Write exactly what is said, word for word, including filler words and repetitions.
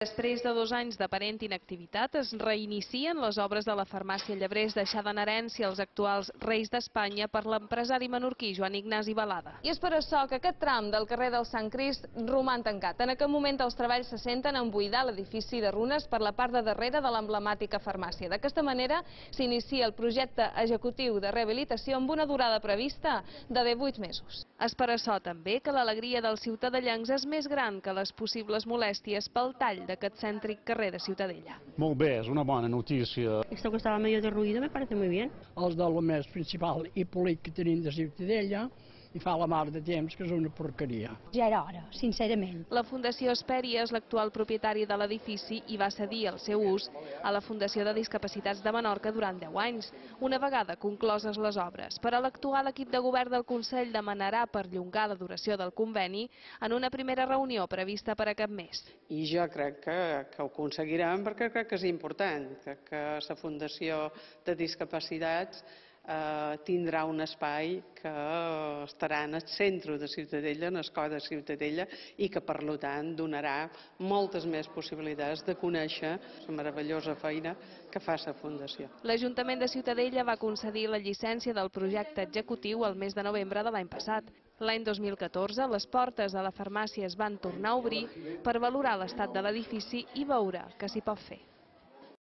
Després de dos anys d'aparent inactivitat, es reinicien les obres de la farmàcia Llebrers deixada en herència als actuals reis d'Espanya per l'empresari menorquí Joan Ignasi Balada. I és per això que aquest tram del carrer del Sant Crist roman tancat. En aquest moment els treballs se senten en buidar l'edifici de runes per la part de darrere de l'emblemàtica farmàcia. D'aquesta manera s'inicia el projecte executiu de rehabilitació amb una durada prevista de divuit mesos. És per això també que l'alegria dels ciutadellencs és més gran que les possibles molèsties pel tall d'aquest cèntric carrer de Ciutadella. Molt bé, és una bona notícia. Esto que estaba medio derruido me parece muy bien. Els del més principal i polit que tenim de Ciutadella i fa la mar de temps que és una porqueria. Ja era hora, sincerament. La Fundació Hesperia és l'actual propietari de l'edifici i va cedir el seu ús a la Fundació de Discapacitats de Menorca durant deu anys, una vegada concloses les obres. Per a l'actual equip de govern del Consell demanarà perllongar la duració del conveni en una primera reunió prevista per a aquest mes. I jo crec que, que ho aconseguirem perquè crec que és important, que, que la Fundació de Discapacitats Eh, tindrà un espai que estarà en el centre de Ciutadella, en el cor de Ciutadella, i que per tant donarà moltes més possibilitats de conèixer la meravellosa feina que fa la Fundació. L'Ajuntament de Ciutadella va concedir la llicència del projecte executiu el mes de novembre de l'any passat. L'any dos mil catorze, les portes de la farmàcia es van tornar a obrir per valorar l'estat de l'edifici i veure què s'hi pot fer.